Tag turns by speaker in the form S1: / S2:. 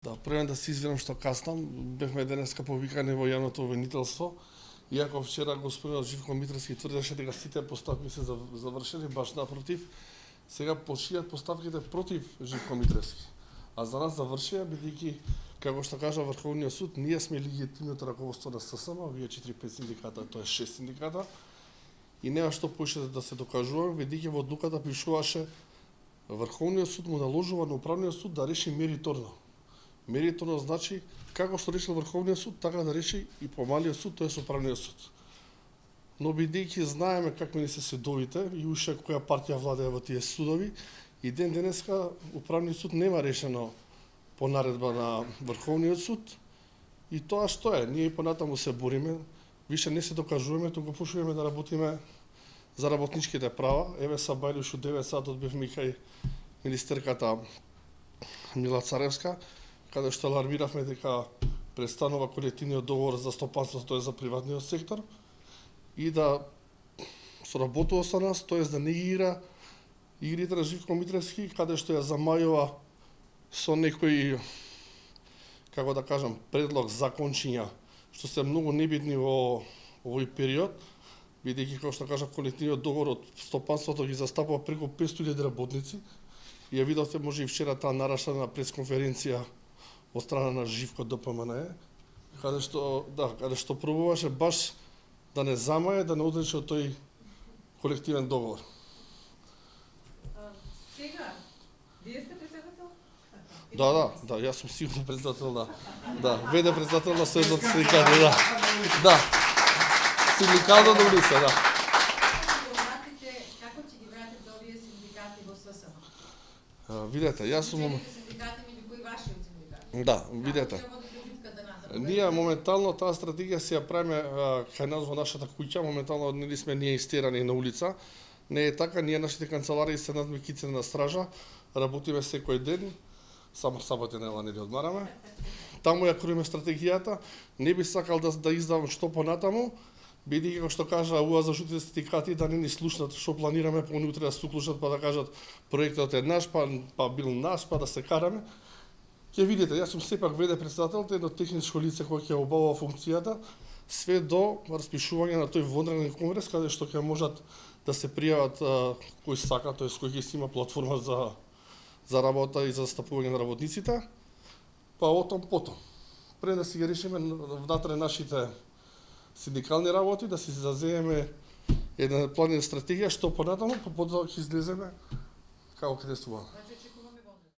S1: Да, првен да се извинам што каснам, бевме денеска повикани во јавното обвинителство, иако вчера господинот Живко Митревски тврдеше дека сите поставки се завршени, баш напротив, сега почијат поставките против Живко Митревски. А за нас завршија, бидејќи, како што кажа Врховниот суд, ние сме легитимното раководство на ССМ, вие 4-5 синдиката, тоа е 6 синдиката, и нема што поише да се докажуваме, бидејќи во одлуката пишуваше Врховниот суд му наложува на Управниот суд да реши мериторно. Мериторно значи како што решил Врховниот суд, така да реши и помалиот суд, тоест Управниот суд. Но бидејќи знаеме какви не се судовите и уште која партија владее во тие судови, и ден денеска Управниот суд нема решено по наредба на Врховниот суд, и тоа што е, ние понатаму се бориме, више не се докажуваме, туку почнуваме да работиме за работничките права. Еве са бајле уште 9 сатот бевме кај министерката Мила Царевска, каде што алармиравме дека престанува колективниот договор за стопанството, тоест за приватниот сектор, и да соработува со нас, тоест да не игра игрите на Живко Митревски, каде што ја замајува со некои, како да кажам, предлог закончиња, што се многу небитни во овој период, бидејќи, како што кажа, колективниот договор од стопанството ги застапува преку 500.000 работници. И ја видовте може и вчера таа нарашена пресконференција од страна на Живко ДПМНЕ, каде што пробуваше баш да не замае, да не одрече од тој колективен договор.
S2: Сега, вие сте председател?
S1: Да, јас сум сигурно председател, да. Веде председател на Сојузот синдикати, да. Синдикално да улица, да.
S2: Како ќе ги вратите овие синдикати во ССМ?
S1: Видете, јас сум...
S2: Синдикати меѓу кои вашиот синдикат?
S1: Да, видете. Ние моментално таа стратегија си ја правиме кај нас во нашата куќа, моментално нели сме ние истерани на улица. Не е така, ние нашите канцеларии се над Мекицина на стража, работиме секој ден, само сабота нела не одмараме. Таму ја круиме стратегијата, не би сакал да издавам што понатаму, бидејќи како што кажа УА за жутите синдикати да не ни слушнат што планираме, па они утре да се уклучат па да кажат проектот е наш, па бил наш, па да се караме. Ќе видите, јас сум сепак веде председател, едно техничко лице кој ќе обавува функцијата, све до распишување на тој вонреден конгрес каде што ќе можат да се пријават кој сака, тоест кој ќе си има платформа за работа и за застапување на работниците, па отом потом. Пред да си ги решиме внатре нашите синдикални работи, да си зазееме една план и стратегија што понатаму, па потоа ќе излеземе како ќе действуваме.